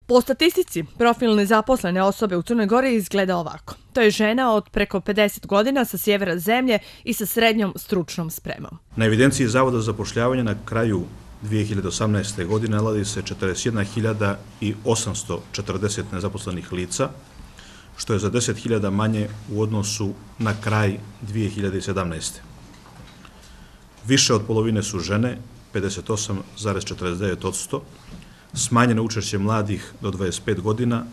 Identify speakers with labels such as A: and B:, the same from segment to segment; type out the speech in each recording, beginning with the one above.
A: Po statistici, profil nezaposlene osobe u Crnoj Gori izgleda ovako. To je žena od preko 50 godina sa sjevera zemlje i sa srednjom stručnom spremom.
B: Na evidenciji Zavoda za zapošljavanje na kraju 2018. godine nalazi se 41.840 nezaposlenih lica, što je za 10.000 manje u odnosu na kraj 2017. Više od polovine su žene, 58,49%, smanjeno učešće mladih do 25 godina,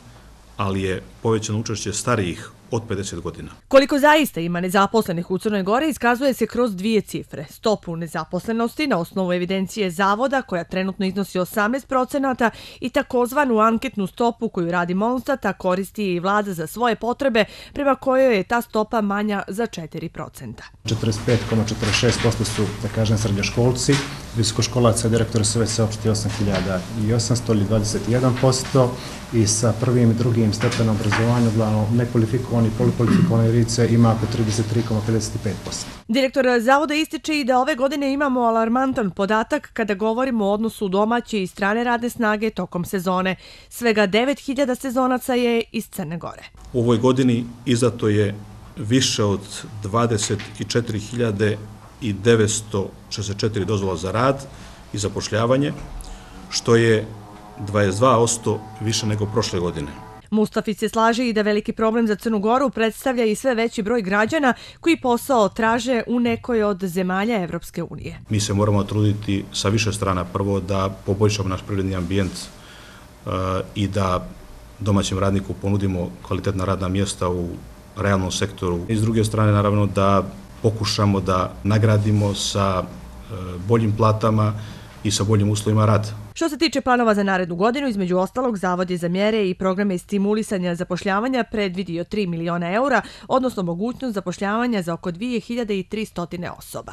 B: ali je povećano učešće starijih od 50 godina.
A: Koliko zaista ima nezaposlenih u Crnoj Gori iskazuje se kroz dvije cifre. Stopu nezaposlenosti na osnovu evidencije Zavoda, koja trenutno iznosi 18%, i takozvanu anketnu stopu koju radi Monstat, a koristi i vlada za svoje potrebe, prema kojoj je ta stopa manja za 4%.
C: 45,46% su, da kažem, srednjoškolci, visokoškolaca i direktora su već saopštili 8.800 ili 21%, i sa prvim i drugim stepenom obrazovanja, uglavnom nekvalifikovani i polikvalifikovane lice, ima oko 33,55%.
A: Direktor Zavoda ističe i da ove godine imamo alarmantan podatak kada govorimo o odnosu domaće i strane radne snage tokom sezone. Svega 9.000 sezonaca je iz Crne Gore.
B: U ovoj godini izdato je više od 24.964 dozvola za rad i zapošljavanje, što je 22% više nego prošle godine.
A: Mustafić se slaže i da veliki problem za Crnu Goru predstavlja i sve veći broj građana koji posao traže u nekoj od zemalja Evropske unije.
B: Mi se moramo truditi sa više strana. Prvo da poboljšamo naš privredni ambijent i da domaćem radniku ponudimo kvalitetna radna mjesta u realnom sektoru. I s druge strane, naravno, da pokušamo da nagradimo sa boljim platama i sa boljim uslovima rada.
A: Što se tiče planova za narednu godinu, između ostalog, Zavod je za mjere i programe stimulisanja zapošljavanja predvidio 3 miliona eura, odnosno mogućnost zapošljavanja za oko 2300 osoba.